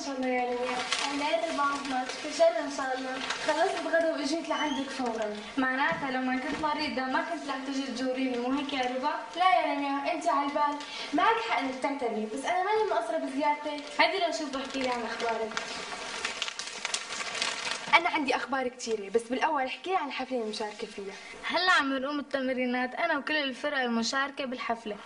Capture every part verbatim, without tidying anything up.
شاء الله يا لمياء. انا ربعت مات فشر ان شاء الله. خلصت الغدا واجيت لعندك فورا. معناتها لو ما كنت مريضة ما كنت رح تجي تزوريني، مو هيك يا ربع؟ لا يا لمياء انت على البال، معك حق انك تعتبري، بس انا ماني مقصرة بزيارتك. هيدي لو شوف بحكي لي عن اخبارك. أنا عندي أخبار كثيرة، بس بالأول احكي لي عن الحفلة المشاركة فيها. هلا عم نقوم التمرينات أنا وكل الفرق المشاركة بالحفلة،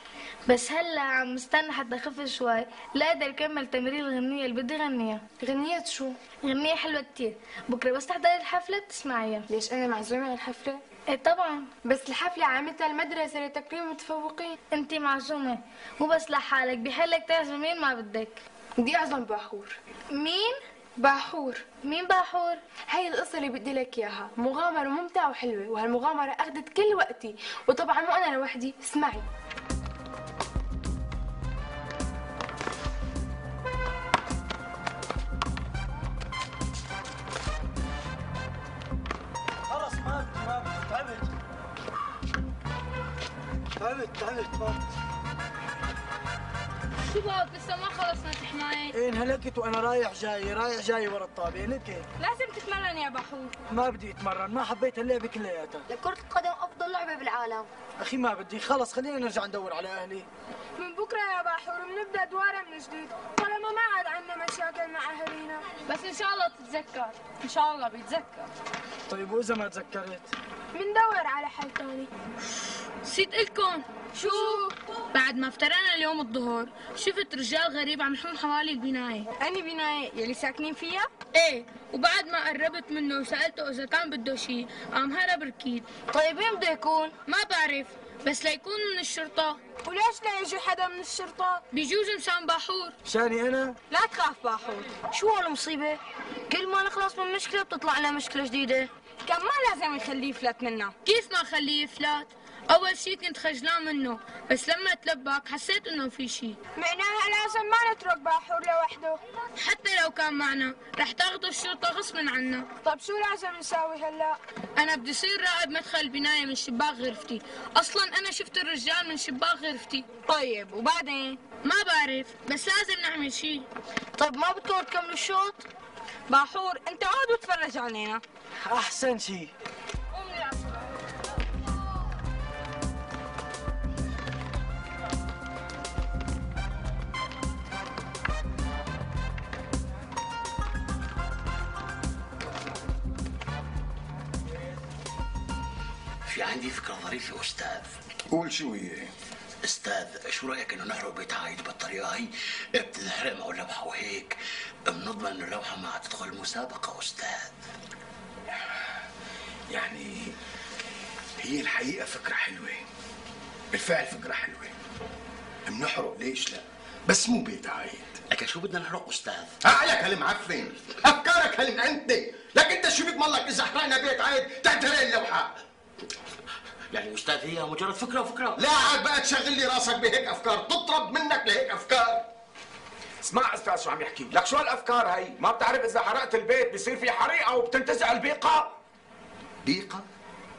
بس هلا عم مستنى حتى خف شوي لأقدر أكمل تمرين الغنية اللي بدي غنيها. غنية شو؟ غنية حلوة كثير، بكرة بس تحضري الحفلة بتسمعيها. ليش أنا معزومة على الحفلة؟ إيه طبعا، بس الحفلة عاملتها المدرسة لتكريم المتفوقين. أنت معزومة، مو بس لحالك، بحلك تعزمي مين ما بدك. بدي أعزم باحور. مين؟ باحور. مين باحور؟ هي القصة اللي بدي لك إياها، مغامرة ممتعة وحلوة، وهالمغامرة أخذت كل وقتي، وطبعا مو أنا لوحدي، اسمعي. خلص ما بدي ما بدي تعبت تعبت تعبت ما بدي. شو بك لسه ما خلصنا تحماية؟ ايه انهلكت وانا رايح جاي رايح جاي ورا الطابة لك. لازم تتمرن يا بحور. ما بدي اتمرن، ما حبيت اللعبة كلياتها. لكرة القدم أفضل لعبة بالعالم. اخي ما بدي، خلص خلينا نرجع ندور على اهلي. من بكرة يا باحور بنبدأ دوارة من جديد، طالما ما عاد عندنا مشاكل مع أهالينا. بس إن شاء الله تتذكر، إن شاء الله بيتذكر. طيب وإذا ما تذكرت؟ بندور على حل ثاني. نسيت لكم شو؟ بعد ما افترقنا اليوم الظهر شفت رجال غريب عم يحوم حوالي البناية. أني بناية يلي ساكنين فيها؟ ايه، وبعد ما قربت منه وسألته إذا كان بده شيء قام هرب ركيد. طيب مين بده يكون؟ ما بعرف، بس ليكون من الشرطة. وليش لا يجي حدا من الشرطة؟ بيجوز مشان باحور. شاني أنا؟ لا تخاف باحور، شو هالمصيبة؟ كل ما نخلص من مشكلة بتطلع لنا مشكلة جديدة. كان ما لازم يخليه يفلت منا. كيف ما خليه يفلت؟ أول شيء كنت خجلان منه، بس لما تلبك حسيت إنه في شيء. معناها لازم ما نترك باحور لوحده. حتى لو كان معنا رح تاخذه الشرطة غصبا عنا. طب شو لازم نساوي هلا؟ أنا بدي صير راقب مدخل البناية من شباك غرفتي، أصلا أنا شفت الرجال من شباك غرفتي. طيب وبعدين؟ ما بعرف، بس لازم نعمل شيء. طيب ما بدكم تكملوا الشوط؟ باحور أنت عود وتفرج علينا. أحسن شيء. في عندي فكرة ظريفة أستاذ. قول شو هي؟ أستاذ شو رأيك إنه نحرق بيت عايد بالطريقة هي؟ بتنحرق معه اللوحة وهيك بنضمن إنه اللوحة ما تدخل المسابقة أستاذ. يعني هي الحقيقة فكرة حلوة، بالفعل فكرة حلوة. بنحرق ليش لا؟ بس مو بيت عايد. لكن شو بدنا نحرق أستاذ؟ عقلك هالمعفن، أفكارك هالمعنتة، لك أنت شو بيضمن لك إذا حرقنا بيت عايد تنحرق اللوحة؟ يعني أستاذ هي مجرد فكرة وفكرة. لا عاد بقى تشغل لي راسك بهيك أفكار، تطرب منك لهيك أفكار. اسمع استاذ شو عم يحكي لك، شو هالافكار هي؟ ما بتعرف اذا حرقت البيت بصير في حريقه وبتنتزع البيقه؟ بيقة؟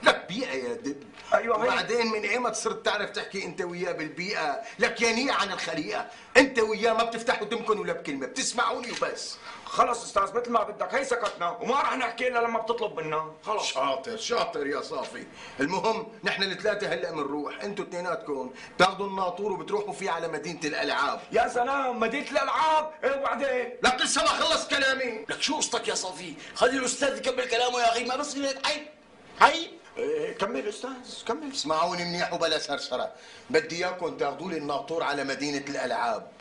لك بيئة يا دب. ايوه هي. وبعدين من ايمت صرت تعرف تحكي انت وياه بالبيئة؟ لك يانية عن الخليقة، انت وياه ما بتفتحوا دمكن ولا بكلمة، بتسمعوني وبس. خلص استاذ مثل ما بدك، هي سكتنا وما رح نحكي الا لما بتطلب منا، خلص. شاطر شاطر يا صافي. المهم نحن الثلاثة هلا بنروح، انتوا اثنيناتكم بتاخذوا الناطور وبتروحوا فيه على مدينة الألعاب. يا سلام، مدينة الألعاب، ايه وبعدين؟ لك لسه ما خلص كلامي. لك شو قصتك يا صافي؟ خلي الأستاذ يكمل كلامه يا أخي، ما بصير هيك. عيب عيب. إيه كمل استاذ كمل. اسمعوني منيح وبلا سرسرة، بدي اياكم تاخذوا لي الناطور على مدينة الألعاب،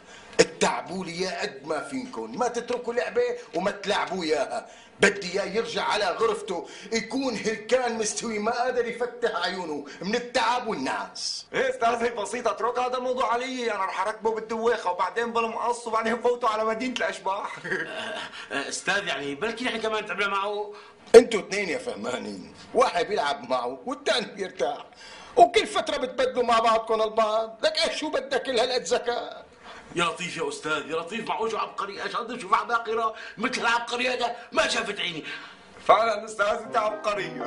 اتعبوا لي اياه قد ما فينكم، ما تتركوا لعبة وما تلعبوا اياها، بدي اياه يرجع على غرفته يكون هلكان مستوي ما قادر يفتح عيونه من التعب والنعاس. ايه استاذ هي بسيطة، اترك هذا الموضوع علي، انا رح اركبه بالدويخة وبعدين بالمقص وبعدين فوته على مدينة الاشباح. أستاذ يعني بلكي نحن كمان تعبنا معه. انتوا اثنين يا فهمانين، واحد بيلعب معه والثاني بيرتاح، وكل فترة بتبدلوا مع بعضكم البعض، لك ايش شو بدك كل هالقد ذكاء؟ يا لطيف يا أستاذ، يا لطيف، معقول شو عبقري؟ ايش قد شوف عباقرة مثل العبقري هذا ما شافت عيني. فعلا استاذ انت عبقري.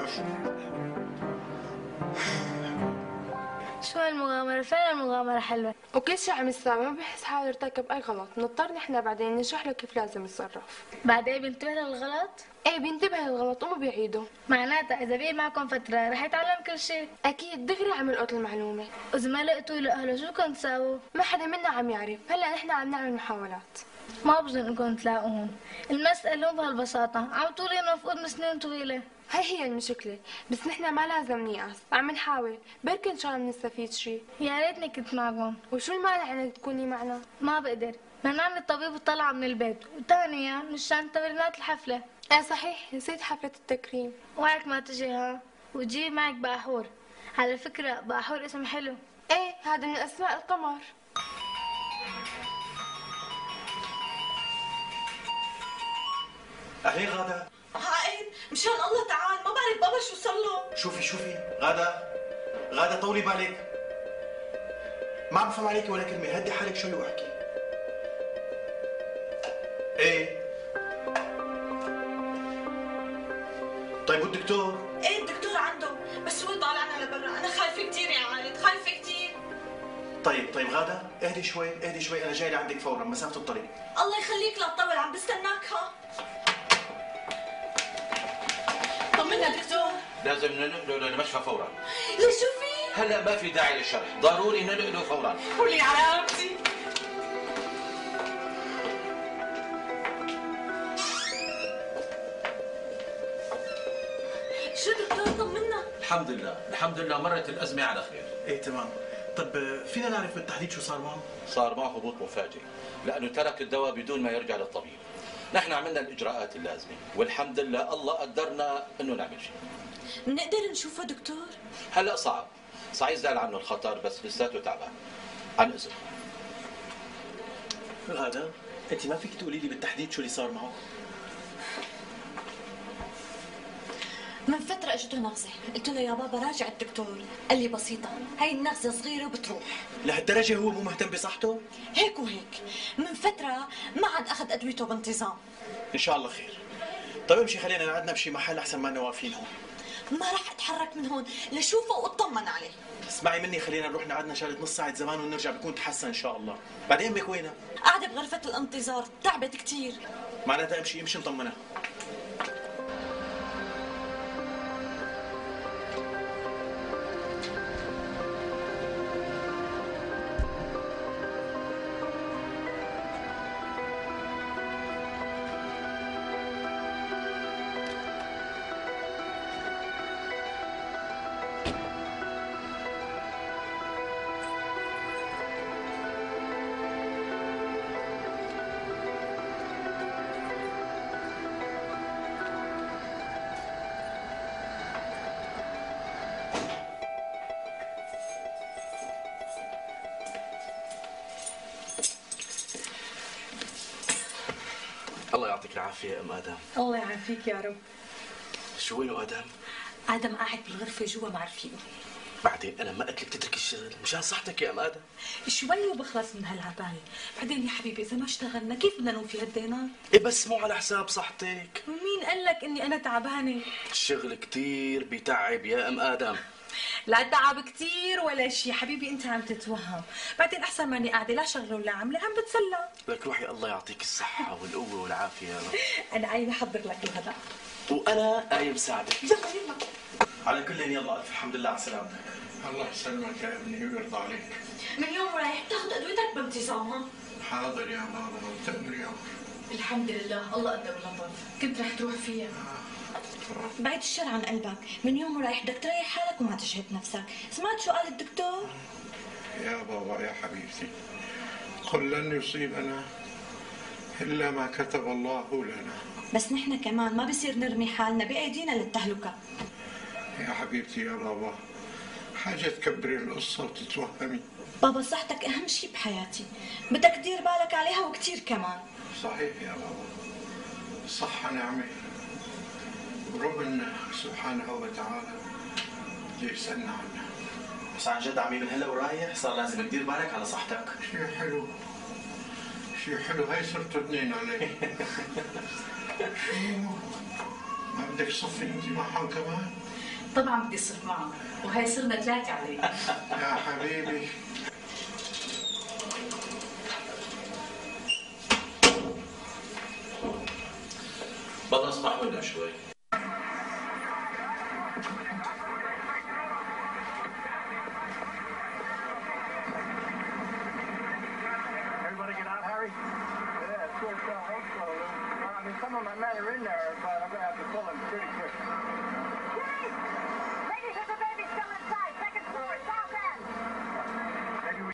شو هالمغامرة؟ فين المغامرة حلوة؟ وكل شيء عم يستوعب ما بحس حاله ارتكب اي غلط، نضطر نحن بعدين نشرح له كيف لازم يتصرف. بعدين بينتبه للغلط؟ ايه بينتبه للغلط وما بيعيده. معناتها إذا بقي معكم فترة رح يتعلم كل شيء. اكيد دغري عم يلقط المعلومة. وإذا ما لقيتوا لأهله شو كنت تساووا؟ ما حدا منا عم يعرف، هلا نحن عم نعمل محاولات. ما بظن انكم تلاقوهم، المسألة مو بهالبساطة، عم تقولي انه مفقود من سنين طويلة. هي هي المشكلة، بس نحن ما لازم نيأس، عم نحاول، بركي ان شاء الله بنستفيد شيء. يا ريتني كنت معكم. وشو المانع انك تكوني معنا؟ ما بقدر، منعني الطبيب وطلع من البيت، وثانيا مشان تمرينات الحفلة. ايه صحيح، نسيت حفلة التكريم. وعك ما تجي ها، وتجيب معك باحور. على فكرة باحور اسم حلو. ايه هذا من اسماء القمر. أهلين غادة. عائد مشان الله تعال، ما بعرف بابا شو صار له. شوفي شوفي غادة، غادة طولي بالك، ما عم بفهم عليكي ولا كلمة، هدي حالك شوي واحكي. ايه طيب والدكتور؟ ايه الدكتور عنده، بس هو طالعنا لبرا، انا خايفة كثير يا عائد، خايفة كثير. طيب طيب غادة اهدي شوي اهدي شوي، أنا جاي لعندك فورا، مسافة الطريق. الله يخليك لا تطول، عم بستناك. ها طمنا دكتور. لازم ننقله للمشفى فورا. ليش شو في؟ هلا ما في داعي للشرح، ضروري ننقله فورا. قولي على رقبتي. شو دكتور طمنا؟ الحمد لله، الحمد لله مرت الأزمة على خير. ايه تمام. طب فينا نعرف بالتحديد شو صار معه؟ صار معه هبوط مفاجئ، لأنه ترك الدواء بدون ما يرجع للطبيب. نحن عملنا الإجراءات اللازمة، والحمد لله الله قدرنا إنه نعمل شيء. بنقدر نشوفه دكتور؟ هلا صعب، صحيح زال عنه الخطر بس لساته تعبان. عن إذن. غادة انت ما فيك تقولي لي بالتحديد شو اللي صار معه؟ من فترة اجته نغزة، قلت له يا بابا راجع الدكتور، قال لي بسيطة، هاي النغزة صغيرة وبتروح. لهالدرجة هو مو مهتم بصحته؟ هيك وهيك، من فترة ما عاد أخذ أدويته بانتظام. إن شاء الله خير. طيب امشي خلينا نقعدنا بشي محل أحسن ما واقفين هون. ما راح أتحرك من هون لشوفه وأطمن عليه. اسمعي مني، خلينا نروح نقعدنا شغلة نص ساعة زمان ونرجع بكون تحسن إن شاء الله. بعدين أمك وينها؟ قاعدة بغرفة الانتظار، تعبت كثير. معناتها امشي امشي نطمنها. الله يعطيك العافية يا أم آدم. الله يعافيك يا رب. شو وينه آدم؟ آدم قاعد بالغرفة جوا معرفينه. بعدين أنا ما قلت لك تترك الشغل مشان صحتك يا أم آدم. شوي وبخلص من هالعباية، بعدين يا حبيبي إذا ما اشتغلنا كيف بدنا نوفي هالدينار؟ إيه بس مو على حساب صحتك. ومين قال لك إني أنا تعبانة؟ الشغل كتير بيتعب يا أم آدم. لا تعب كثير ولا شيء حبيبي، انت عم تتوهم، بعدين احسن ماني قاعده لا شغله ولا عامله، عم بتسلى. لك روحي الله يعطيك الصحة والقوة والعافية يا رب. انا قايمه احضر لك الغداء. وأنا قايم ساعدك. يلا يلا. على كل يلا ألف الحمد لله على سلامتك. الله يسلمك يا ابني ويرضى عليك. من يوم رايح تاخذ ادويتك بانتظام. ها حاضر يا بابا وتأمر يا أمر. الحمد لله الله قدر لطف، كنت رح تروح فيها. بعيد الشر عن قلبك، من يوم رايح بدك تريح حالك وما تجهد نفسك، سمعت شو قال الدكتور؟ يا بابا يا حبيبتي، قل لن يصيبنا إلا ما كتب الله لنا. بس نحن كمان ما بصير نرمي حالنا بأيدينا للتهلكة. يا حبيبتي يا بابا، حاجة تكبري القصة وتتوهمي. بابا صحتك أهم شيء بحياتي، بدك تدير بالك عليها وكتير كمان. صحيح يا بابا، صحة نعمة، وربنا سبحانه وتعالى بده يسألنا عنها. بس عن جد عمي من هلا ورايح صار لازم تدير بالك على صحتك. شيء حلو شيء حلو، هاي صرتوا اثنين علي. شو ما بدك تصفي انت معهم كمان؟ طبعا بدي اصرف معه، وهي صرنا ثلاثة عليه. يا حبيبي بدنا نسمع منها شوي. Everybody get out, Harry? Yeah, sure, sure, I hope so, Lou. I mean, some of my men are in there, but I'm gonna have to pull them pretty quick. Ladies, there's a baby still inside. Second floor, south end.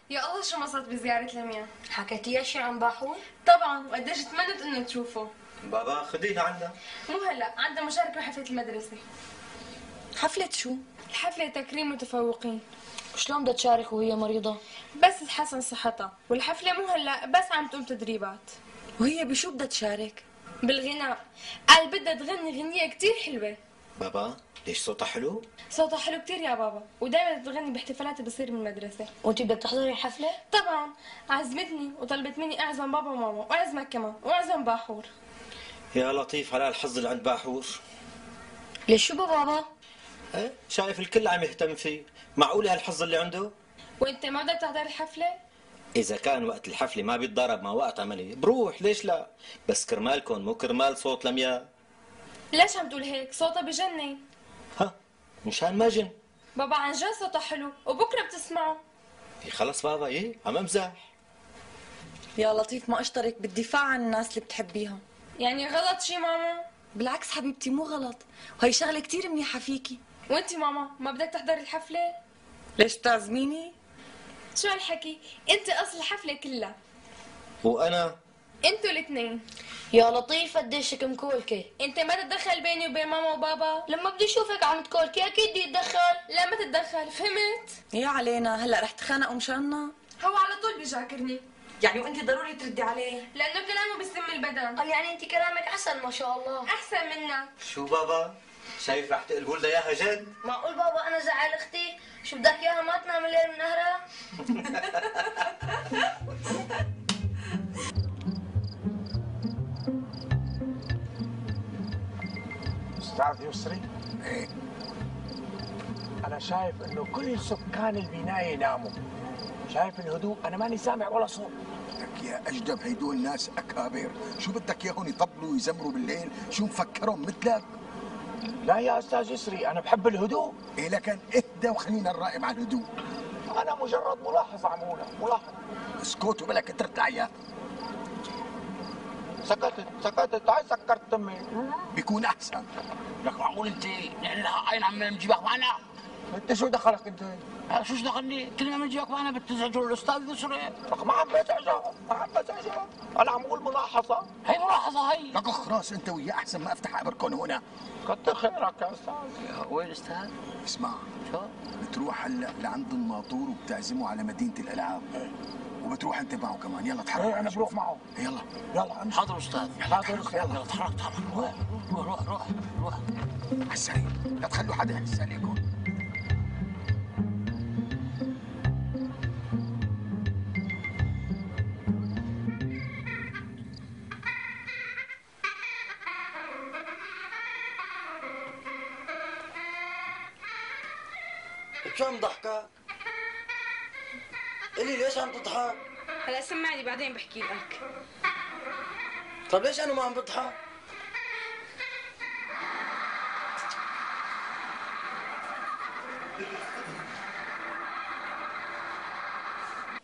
يا الله شو انبسطت بزيارة لميا. حكيتيها شي عن باحور؟ طبعا، وقديش تمنت انه تشوفه. بابا خدينا عنا. مو هلا، عندها مشاركة بحفلة المدرسة. حفلة شو؟ الحفلة تكريم متفوقين. شلون بدها تشارك وهي مريضة؟ بس تحسن صحتها، والحفلة مو هلا بس عم تقوم تدريبات. وهي بشو بدها تشارك؟ بالغناء، قال بدها تغني غنية كتير حلوة. بابا ليش صوتها حلو؟ صوتها حلو كتير يا بابا، ودايما بتغني باحتفالات بتصير بالمدرسة. وانت بدك تحضري الحفلة؟ طبعا، عزمتني وطلبت مني اعزم بابا وماما واعزمك كمان واعزم باحور. يا لطيف على الحظ اللي عند باحور. ليش شو بابا؟ ايه شايف الكل عم يهتم فيه، معقولة هالحظ اللي عنده؟ وانت ما بدك تحضر الحفلة؟ إذا كان وقت الحفلة ما بيتضارب مع وقت عملي بروح، ليش لا؟ بس كرمالكم مو كرمال صوت لمياء. ليش عم تقول هيك؟ صوتها بجنن. ها مشان ما جن. بابا عن جد صوتها حلو وبكره بتسمعه. إيه خلص بابا، ايه عم امزح. يا لطيف ما اشترك بالدفاع عن الناس اللي بتحبيها. يعني غلط شي ماما؟ بالعكس حبيبتي مو غلط، وهي شغلة كتير منيحة فيكي. وانتي ماما ما بدك تحضري الحفلة؟ ليش بتعزميني؟ شو هالحكي؟ انت اصل الحفلة كلها. وأنا؟ انتوا الاثنين. يا لطيف قديشك مكولكة. انت ما تتدخل بيني وبين ماما وبابا. لما بدي اشوفك عم تكولكي اكيد بدي اتدخل. لا ما تتدخل، فهمت؟ يا علينا هلا رح تخانقوا مشاننا؟ هو على طول بيجاكرني. يعني وانت ضروري تردي عليه؟ لانه كلامه بسم البدن. قال يعني انت كلامك احسن ما شاء الله. احسن منك. شو بابا؟ شايف رح تقلبوا لها اياها جد؟ معقول بابا انا زعل اختي؟ شو بدك اياها ما تنام الليل من نهرها؟ استاذ يسري؟ ايه انا شايف انه كل سكان البنايه ناموا. شايف الهدوء، انا ماني سامع ولا صوت. لك يا اجدب هيدول ناس اكابر، شو بدك اياهم يطبلوا ويزمروا بالليل؟ شو مفكرهم مثلك؟ لا يا استاذ يسري، انا بحب الهدوء. ايه لكن اهدى وخلينا نراقب على الهدوء. انا مجرد ملاحظه عموله، ملاحظه. اسكت وبلك ترتع يا سكتت سكتت هاي سكرت تمي. بيكون احسن. لك معقول انت نحن عين عم نجيبك معنا؟ انت شو دخلك انت؟ شو دخلني؟ كل ما نجيبك معنا بتزعجوا الاستاذ يسري. لك ما عم بزعجه، ما عم بزعجه، انا عم بقول ملاحظه. هي ملاحظه هي. لك خلاص انت وياه احسن ما افتح ابركون هنا. كتر خيرك يا استاذ. وين استاذ؟ اسمع، شو؟ بتروح هلا لعند الناطور وبتعزمه على مدينه الالعاب. وبتروح انت معه كمان، يلا تحرك. ايه انا بروح معه. يلا يلا امشي. حاضر استاذ. يلا تحرك، يلا يلا تحرك تحرك. روح روح روح روح روح. على السريع، لا تخلوا حدا يحس عليكم. شو عم ضحكك؟ قولي ليش عم تضحك؟ هلا سمعني بعدين بحكي لك. طيب ليش انا ما عم بضحك؟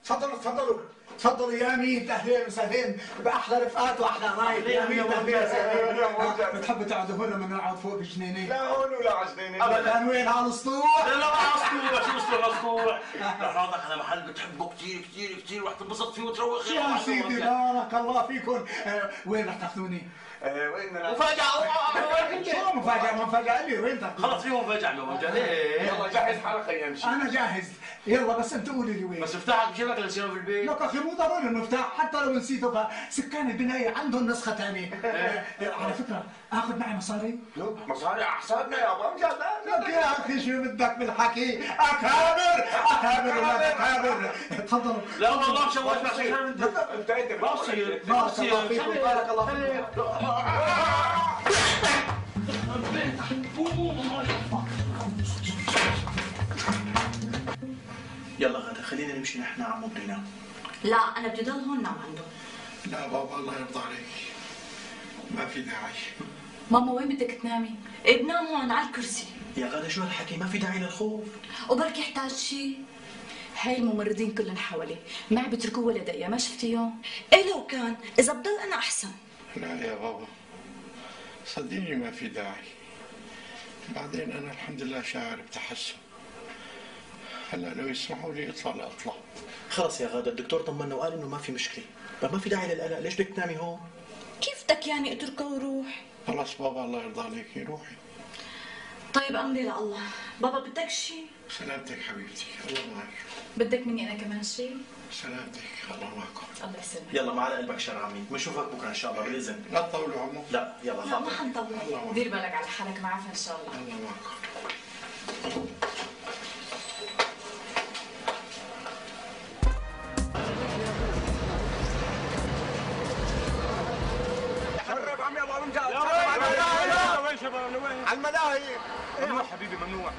تفضلوا تفضلوا تفضلوا يا ميت، اهلين وسهلين باحلى رفقات واحلى رايد. يا ميت اهلين وسهلين. بتحبوا تقعدوا هون لما نقعد فوق بجنينه؟ لا هون ولا على جنينه. ابدا. وين على السطوح؟ لا لا على السطوح، شو اسطوح السطوح؟ رح ناخذك على محل بتحبه كثير كثير كثير ورح تنبسط فيه وتروق. يا سيدي بارك الله فيكم. آه وين رح تاخذوني؟ آه وين مفاجأة. شو مفاجأة؟ مفاجأة لي وين تاخذوني؟ خلص فيه مفاجأة اليوم. يلا جهز حالك خلينا نمشي. انا جاهز، يلا بس انت قولي لي وين. بس مفتاحك بجيبك لنسيبه في البيت. لك اخي مو ضروري المفتاح، حتى لو نسيته فسكان البنايه عندهم نسخه ثانيه. على فكره اخذ معي مصاري؟ مصاري على حسابنا يا بابا. لك يا اخي شو بدك بالحكي؟ اكابر اكابر ولا اكابر. تفضلوا. لا والله مشوش ما صير. انت انت ما بصير ما بارك الله فيكم، بصير. بارك الله فيكم. يلا غدا خلينا نمشي نحن عمو بده ينام. لا انا بدي ضل هون نام عنده. لا بابا الله يرضى عليك، ما في داعي. ماما وين بدك تنامي؟ ايه بنام هون على الكرسي. يا غدا شو هالحكي؟ ما في داعي للخوف. وبركي يحتاج شيء. هاي الممرضين كلهم حواليه، ما عم بيتركوه ولا دقيقة، ما شفتيهم؟ ايه لو كان، إذا بضل أنا أحسن. لا يا بابا صدقيني ما في داعي. بعدين أنا الحمد لله شاعر بتحسن. هلا لو يسمحوا لي اطلع لاطلع. خلص يا غادة الدكتور طمنا وقال انه ما في مشكله، ما في داعي للقلق، ليش بدك تنامي هون؟ كيف بدك يعني اتركه وروح؟ خلص بابا الله يرضى عليكي روحي. طيب امري لله، بابا بدك شيء؟ سلامتك حبيبتي، الله معك. بدك مني انا كمان شيء؟ سلامتك، الله معكم. الله يسلمك. يلا ما على قلبك شر عمي، بنشوفك بكره ان شاء الله باذن. لا تطولوا عمو. لا يلا لا ما حنطول. دير بالك على حالك، معافى ان شاء الله. الله معكم. قرب عمي ابو امجاد. وين شباب لوين؟ على الملاهي. ممنوع حبيبي ممنوع.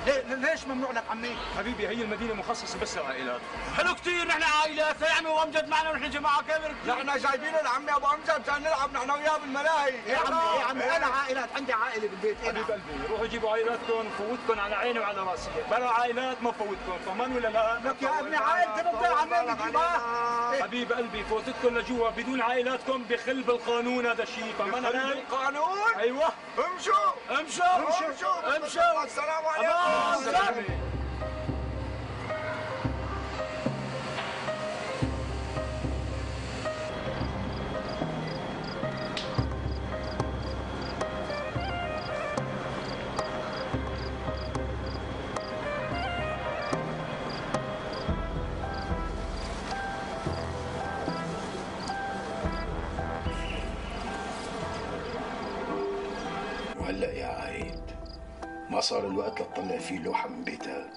ليه ليش ممنوع لك عمي؟ حبيبي هي المدينة مخصصة بس للعائلات. حلو كثير، نحن عائلات يا عمي وامجد معنا ونحن جماعة كبيرة. نحن جايبين لعمي ابو امجد مشان نلعب نحن وياه بالملاهي. يا عمي يا عمي انا عائلات، عندي عائلة بالبيت. حبيب قلبي روحوا جيبوا عائلاتكم، فوتكم على عيني وعلى راسي، بلا عائلات ما فوتكم، طمان ولا لا؟ لك يا ابني عائلتي بتضيع عمي نجيبها. حبيب قلبي فوتتكم لجوا بدون عائلاتكم بخل بالقانون، هذا الشيء فهمان علي؟ بالقانون؟ ايوه. امشوا امشوا امشوا امشوا. السلام عليكم. وهلأ يا عايد ما صار الوقت لتطلع فيه لوحة من بيتك؟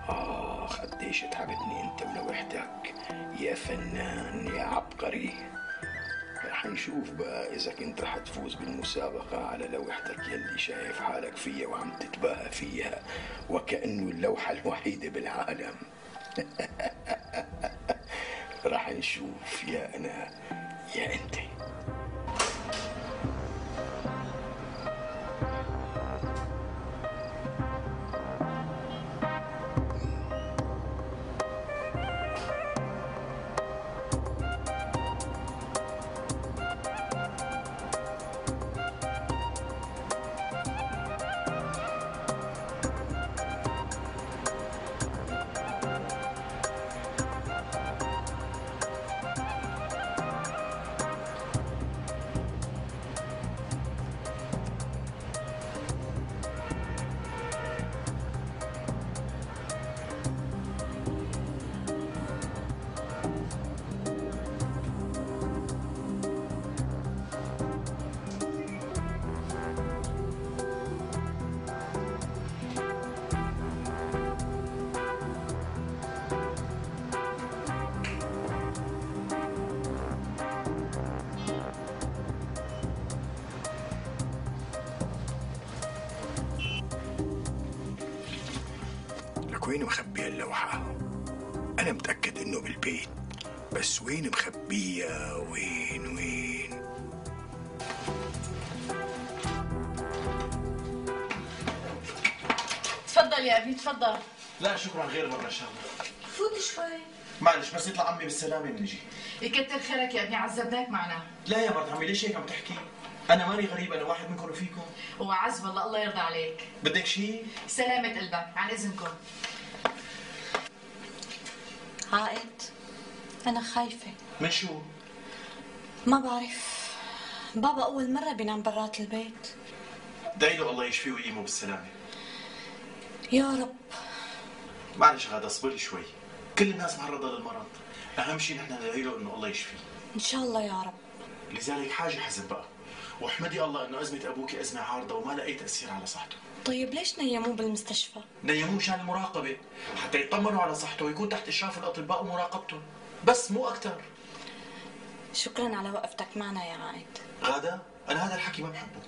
آخ قديش تعبتني أنت ولوحدك يا فنان يا عبقري. رح نشوف بقى إذا كنت رح تفوز بالمسابقة على لوحتك يلي شايف حالك فيها وعم تتباهى فيها وكأنه اللوحة الوحيدة بالعالم. رح نشوف يا أنا يا أنت. وين مخبية اللوحة؟ أنا متأكد إنه بالبيت، بس وين مخبية؟ وين وين؟ تفضل يا ابني تفضل. لا شكرا، غير مرة إن شاء الله. فوت شوي. معلش بس يطلع عمي بالسلامة بنجي. يكتر خيرك يا ابني، عذبناك معنا. لا يا مرت عمي ليش هيك عم تحكي؟ أنا ماني غريب، أنا واحد منكم وفيكم. وعز والله الله يرضى عليك. بدك شيء؟ سلامة قلبك، عن إذنكم. عائد أنا خايفة. من شو؟ ما بعرف، بابا أول مرة بينام برات البيت. دعي له الله يشفيه ويقيمه بالسلامة. يا رب. معلش غادة اصبري شوي، كل الناس معرضة للمرض، أهم شيء نحن ندعي له إنه الله يشفيه. إن شاء الله يا رب. لذلك حاجة حزب بقى، واحمدي الله إنه أزمة أبوك أزمة عارضة وما لها أي تأثير على صحته. طيب ليش نيموه بالمستشفى؟ نيموه مشان المراقبة، حتى يطمنوا على صحته ويكون تحت إشراف الأطباء ومراقبتهم، بس مو أكثر. شكرا على وقفتك معنا يا عائد. غادة أنا هذا الحكي ما بحبه،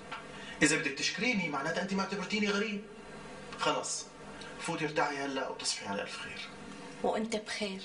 إذا بدك تشكريني معناتها أنت ما اعتبرتيني غريب. خلص فوتي ارتاحي هلا وتصبحي على الف خير. وانت بخير.